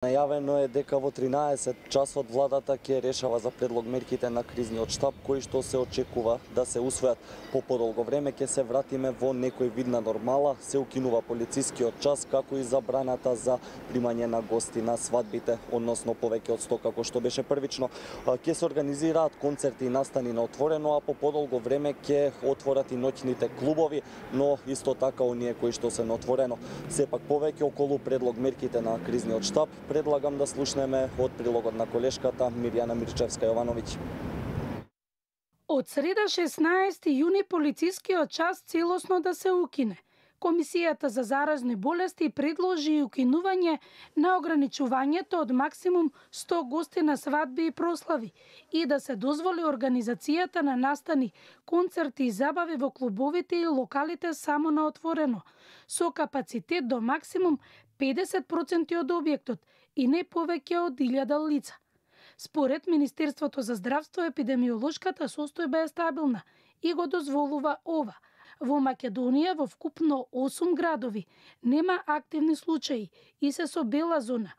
Најавено е дека во 13 часот владата ќе решава за предлог мерките на кризниот штаб, кои што се очекува да се усвојат. По подолго време ќе се вратиме во некој вид на нормала, се укинува полицискиот час, како и забраната за примање на гости на свадбите, односно повеќе од 100 како што беше првично. Ќе се организираат концерти и настани на отворено, а по подолго време ќе отворат и ноќните клубови, но исто така оние кои што се на отворено. Сепак повеќе околу предлог мерките на кризниот штаб предлагам да слушнеме од прилогот на колешката Мирјана Мирчевска-Јовановиќ. Од среда 16 јуни полицискиот час целосно да се укине. Комисијата за заразни болести предложи укинување на ограничувањето од максимум 100 гости на свадби и прослави и да се дозволи организацијата на настани, концерти и забави во клубовите и локалите само на отворено, со капацитет до максимум 50% од објектот и не повеќе од 1000 лица. Според Министерството за здравство, епидемиолошката состојба е стабилна и го дозволува ова. Во Македонија, во вкупно 8 градови, нема активни случаи и се со бела зона.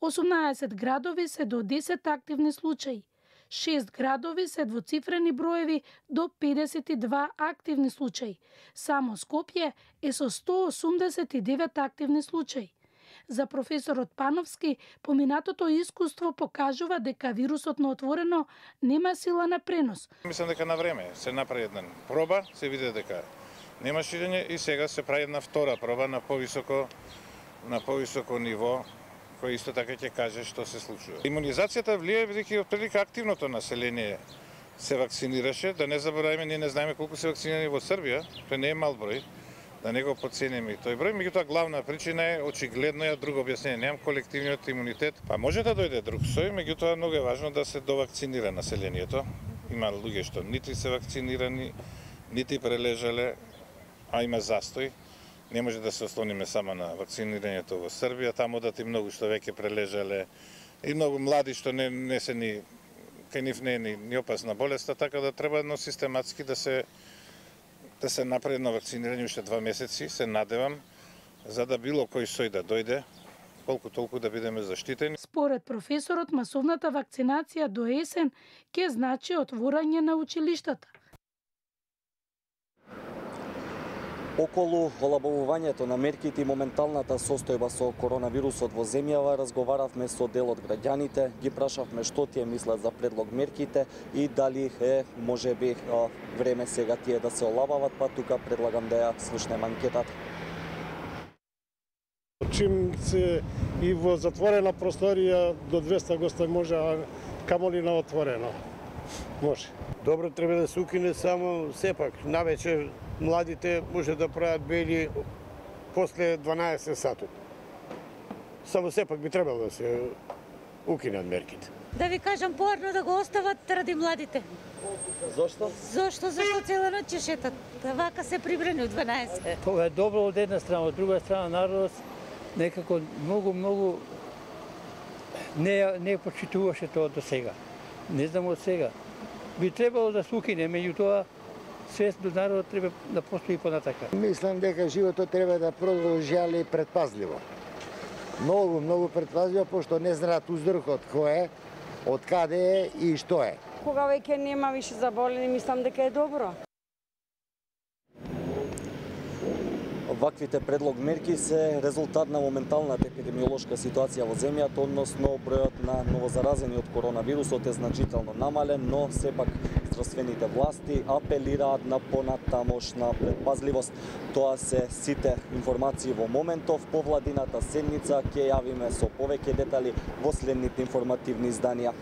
18 градови се до 10 активни случаи. 6 градови се двоцифрени броеви до 52 активни случаи. Само Скопје е со 189 активни случаи. За професорот Пановски, поминатото искуство покажува дека вирусот на отворено нема сила на пренос. Мислам дека на време се направи една проба, се види дека нема ширење и сега се прави една втора проба на повисоко ниво, кој исто така ќе каже што се случува. Имунизацијата влие бидејќи отприлика активното население се вакцинираше, да не забораваме, ние не знаеме колку се вакцинирани во Србија, тој не е мал број. Да не го подцениме и тој број, меѓутоа главна причина е очигледно ја друго објаснение, немам колективниот имунитет. Па може да дојде друг сој, меѓутоа многу е важно да се довакцинира населението. Има луѓе што нити се вакцинирани, нити прележале, а има застој. Не може да се ослониме само на вакцинирањето во Србија, таму да ти многу што веќе прележале и многу млади што не се ни кај нив не е ни опасна болеста, така да треба едно систематски да се направи на вакцинирање уште 2 месеци, се надевам, за да било кој сој да дојде, колку толку да бидеме заштитени. Според професорот, масовната вакцинација до есен ќе значи отворање на училиштата. Околу олабавувањето на мерките и моменталната состојба со коронавирусот во земјава разговаравме со дел од граѓаните, ги прашавме што тие мислат за предлог мерките и дали е можеби време сега тие да се олабават, па тука предлагам да ја слушнеме анкетата. Чим се и во затворена просторија до 200 гости може, а камоли на отворено. Може. Добро треба да се укине, само сепак навечер младите може да прават бели после 12 сатот. Само сепак би требало да се укинат мерките. Да ви кажам, поарно да го остават ради младите. Зошто? Зошто цела ноќ ќе шетат. Вака се прибрани од 12. Тоа е добро од една страна, од друга страна народот некако многу не почитуваше тоа до сега. Не знам од сега. Би требало да се укине, меѓутоа свест до народот треба да постои понатака. Мислам дека животот треба да продолжи, али предпазливо. Многу предпазливо, пошто не знаат уздрхот кој е, од каде е и што е. Кога веќе нема више заболени, мислам дека е добро. Ваквите предлог мерки се резултат на моменталната епидемиолошка ситуација во земјата, односно бројот на новозаразени од коронавирусот е значително намален, но сепак здравствените власти апелираат на понатамошна предпазливост. Тоа се сите информации во моментов. По владината седница ќе јавиме со повеќе детали во следните информативни изданија.